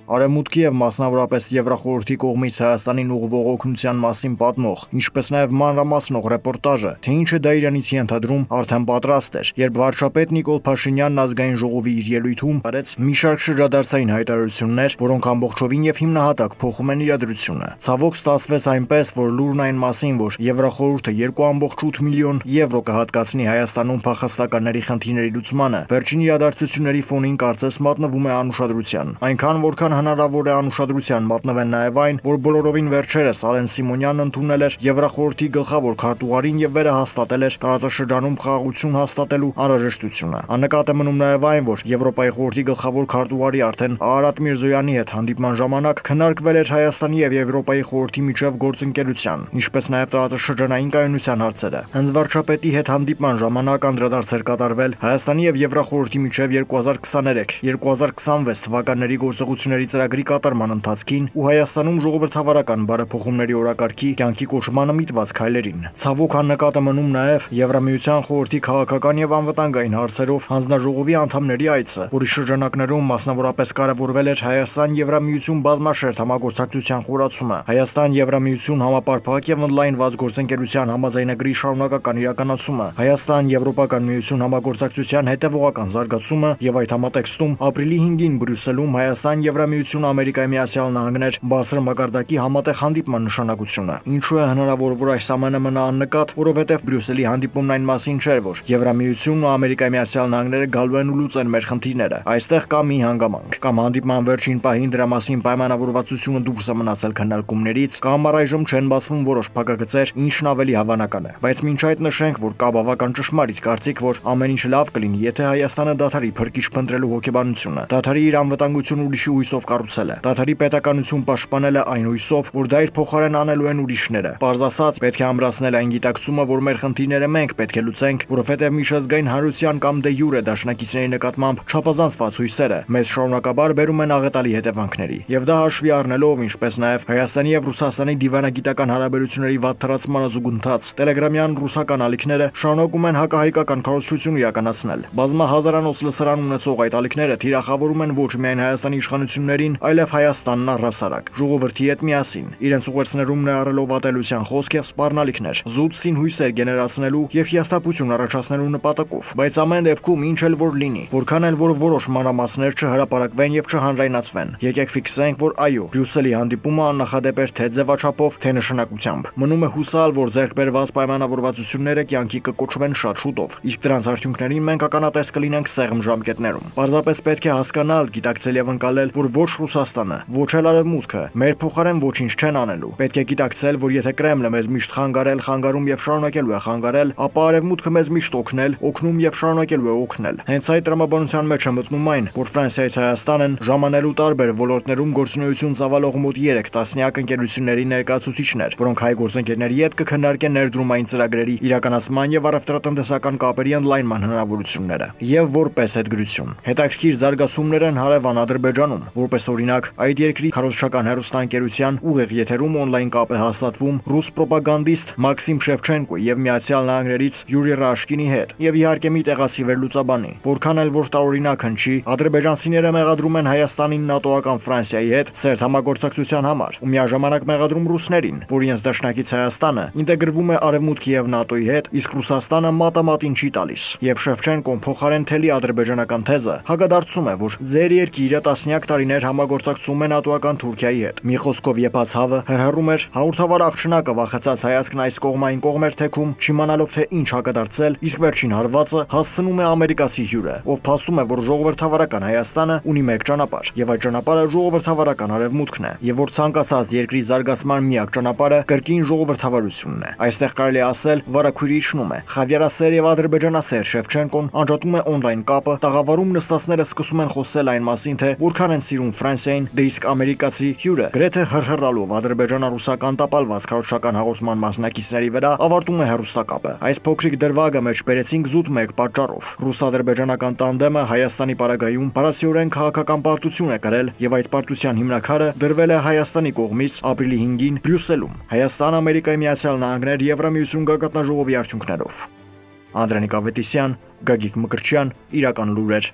Արևմուտքի եւ մասնավորապես Եվրախորհրդի կողմից Հայաստանին ուղղվող օգնության մասին պատմող, ինչպես նաեւ մանրամասնող ռեպորտաժը, թե ինչ է դա իրանից ենթադրում, արդեն պատրաստ էր, երբ վարչապետ Նիկոլ Փաշինյանն ազգային ժողովի իր ելույթում արեց մի շարք շրջադարձային հայտարարություններ, որոնք ամբողջովին եւ հիմնահատակ փոխում են իրադրությունը։ Ցավոք ստացվեց այնպես, որ լուրն այն մասին, որ Եվրախորհուրդը 2.8 միլիոն եվրո կհատկացնի Հայաստանում փախստականների խնդիրների լուծմանը, վերջին իրադարձությունների ֆոնին կարծես մատնվում է անուշադրության։ Այնքան որքան հնարավոր է անուշադրության մատնվեն նաև այն, որ բոլորովին վերջերս Ալեն Սիմոնյանն ընդունել էր Եվրախորհրդի գլխավոր քարտուղարին եւ վերահաստատել էր տարածաշրջանում խաղաղություն հաստատելու անհրաժեշտությունը։ Աննկատ է մնում նաև այն, որ Եվրոպայի խորհրդի գլխավոր քարտուղարի արդեն Արարատ Միրզոյանի հետ հանդիպման ժամանակ քննարկվել էր Հայաստանի եւ Եվրոպայի խորհրդի միջև գործընկերության, ինչպես նաև տարածաշրջանային կայունության հարցերը։ Հենց վարչապետի հետ հանդիպման ժամանակ անդրադարձ էր կատարվել Հայաստանի եւ Եվրախորհրդի միջև 2023-2026 թվականների գործողությունների ծրագրի կատարման ընթացքին ու Հայաստանում ժողովրդավարական բարեփոխումների օրակարգի կյանքի կոչմանը միտված քայլերին։ Ցավոք աննկատ է մնում նաև Եվրամիության խորհրդի քաղաքական եւ անվտանգային հարցերով հանձնաժողովի անդամների այցը, որի շրջանակներում մասնավորապես կարևորվել էր Հայաստան-Եվրամիություն բազմաշերտ համագործակցության խորացումը, Հայաստան-Եվրամիություն համապարփակ եւ ընդլայնված գործընկերության համաձայնագրի շարունակական իրականացումը, Հայաստան-Եվրոպական միություն համագործակցության հետևողական զարգացումը եւ այդ համատեքստում ապրիլի 5-ին Բրյուսելում Հայաստան-Եվրամիություն Ամերիկայի Միացյալ Նահանգներ բարձր մակարդակի համատեղ հանդիպման նշանակությունը։ Ինչու է հնարավոր, որ այս ամենը մնա աննկատ, որովհետև Բրյուսելի հանդիպումն այն մասին չէր, որ Եվրամիությունն ու Ամերիկայի Միացյալ Նահանգները գալու են ու լուծեն մեր խնդիրները։ Այստեղ կա մի հանգամանք, կամ հանդիպման վերջին պահին դրա մասին պայմանավորվածությունը դուրս է մնացել քննարկումներից, կամ առայժմ չեն բացվում որոշ փակագծեր, ինչն ավելի հավանական է։ Բայց մինչ այդ նշենք, որ կա բավական ճշմարիտ կարծիք, որ ամեն ինչ լավ կլինի, եթե Հայաստանը դադարի փրկիչ փնտրելու հոգեբանությունը, դադարի իր անվտանգությունը ուրիշի հույսով կառուցել է, դադարի պետականություն պաշտպանել է այն հույսով, որ դա իր փոխարեն անելու են ուրիշները։ Պարզ ասած, պետք է ամրացնել այն գիտակցումը, որ մեր խնդիրները մենք պետք է լուծենք, որովհետև միջազգային հանրության կամ դե յուրե դաշնակիցների նկատմամբ չափազանցված հույսերը մեզ շարունակաբար բերում են աղետալի հետևանքների։ Եվ դա հաշվի առնելով, ինչպես նաև Հայաստանի եւ Ռուսաստանի դիվանագիտական հարաբերությունների վատթարացմանը զուգընթաց, տելեգրամյան ռուսական ալիքները շարունակում են հակահայկական քարոզչություն իրականացնել։ Բազմահազարանոց լսարան ունեցող այդ ալիքները թիրախավորում են ոչ միայն Հայաստանի իշխանություններին, այլև Հայաստանն առհասարակ, ժողովրդի հետ միասին, իրենց ուղերձներում ներառելով ատելության խոսք եւ սպառնալիքներ, զուտ սին հույսեր գեներացնելու եւ հիասթափություն առաջացնելու նպատակով։ Բայց ամեն դեպքում ինչ էլ որ լինի, որքան էլ որ որոշ մանրամասներ չհրապարակվեն եւ չհանրայնացվեն, եկեք ֆիքսենք, որ այո, Բրյուսելի հանդիպումը աննախադեպ էր թե ձևաչափով, թե նշանակությամբ։ Մնում է հուսալ, որ ձեռք բերված պայմանավորվածությունները կյանքի կկոչվեն շատ շուտով, իսկ դրանց արդյունքներին մենք ականատես կլինենք սեղմ ժամկետներում։ Պարզապես պետք է հասկանալ, գիտակցել եւ ընկալել, որ ոչ Ռուսաստանը, ոչ էլ Արևմուտքը մեր փոխարեն ոչինչ չեն անելու։ Պետք է գիտակցել, որ եթե Կրեմլը մեզ միշտ խանգարել, խանգարում եւ շարունակելու է խանգարել, ապա Արևմուտքը մեզ միշտ օգնել, օգնում եւ շարունակելու է օգնել։ Հենց այդ տրամաբանության մեջ է մտնում այն, որ Ֆրանսիայից Հայաստանն ժամանելու տարբեր ոլորտներում գործունեություն ծավալող մոտ 3 տասնյակ ընկերությունների ներկայացուցիչներ, որոնք հայ գործընկերների հետ կքննարկեն ներդրումային ծրագրերի իրականացման եւ առևտրատնտեսական կապերի ընդլայնման հնարավորությունները։ Եվ որպես հետգրություն, հետաքրքիր զարգացումներ են հարևան Ադրբեջանում, որպես օրինակ, այդ երկրի քարոզչական հեռուստաընկերության ուղիղ եթերում օնլայն կապ է հաստատվում ռուս պրոպագանդիստ Մաքսիմ Շևչենկոյի եւ Միացյալ Նահանգներից Յուրի Ռաշկինի հետ, եւ իհարկե մի տեղացի վերլուծաբանի։ Որքան էլ որ տարօրինակ հնչի, ադրբեջանցիները մեղադրում են Հայաստանին ՆԱՏՕ-ական Ֆրանսիայի հետ սերտ համագործակցության համար, ու միաժամանակ մեղադրում ռուսներին, որ իրենց դաշնակից Հայաստանը ինտեգրվում է Արևմուտքի եւ ՆԱՏՕ-ի հետ, իսկ Ռուսաստանը մատամատին չի տալիս։ Եվ Շևչենկոն փոխարեն թելի ադրբեջանական թեզը հակադարձում է, որ ձեր երկիրը տասնյակ տարիներ համագործակցում է ՆԱՏՕ-ական Թուրքիայի հետ։ Մի խոսքով եպած հավը հրհրում էր հաղորդավար աղջնակը վախեցած հայացքն այս կողմային կողմ էր թեքում, չիմանալով թե ինչ հակադարձել, իսկ վերջին հարվածը հասցնում է ամերիկացի հյուրը, ով փաստում է, որ ժողովրդավարական Հայաստանը ունի մեկ ճանապարհ, եւ այդ ճանապարհը ժողովրդավարական Արևմուտքն է, եւ որ ցանկացած երկրի զարգացման միակ ճանապարհը կրկին ժողովրդավարությունն է։ Այստեղ կարելի ասել վարակույրի իջնում է։ Խավիարասեր եւ ադրբեջանասեր Շևչենկոն անջատում է օնլայն կապը, տաղավարում նստածները սկսում են խոսել այն մասին, թե որքան են սիրում Ֆրանսիային, դե իսկ ամերիկացի հյուրը գրեթե հրհրալով ադրբեջանա-ռուսական տապալված քարոզչական հաղորդման մասնակիցների վրա ավարտում է հեռուստակապը։ Այս փոքրիկ դրվագը մեջ բերեցինք զուտ մեկ պատճառով։ Ռուս-ադրբեջանական տանդեմը Հայաստանի պարագայում բարձրորեն քաղաքական պարտություն է կրել եւ այդ պարտության հիմնաքարը դրվել է Հայաստանի կողմից ապրիլի 5-ին Բրյուսելում Հայաստան, Ամերիկայի Միացյալ Նահանգներ, Եվրամիություն գագաթնաժողովի արդյունքներով։ Անդրանիկ Ավետիսյան, Գագիկ Մկրտչյան, Իրական լուրեր։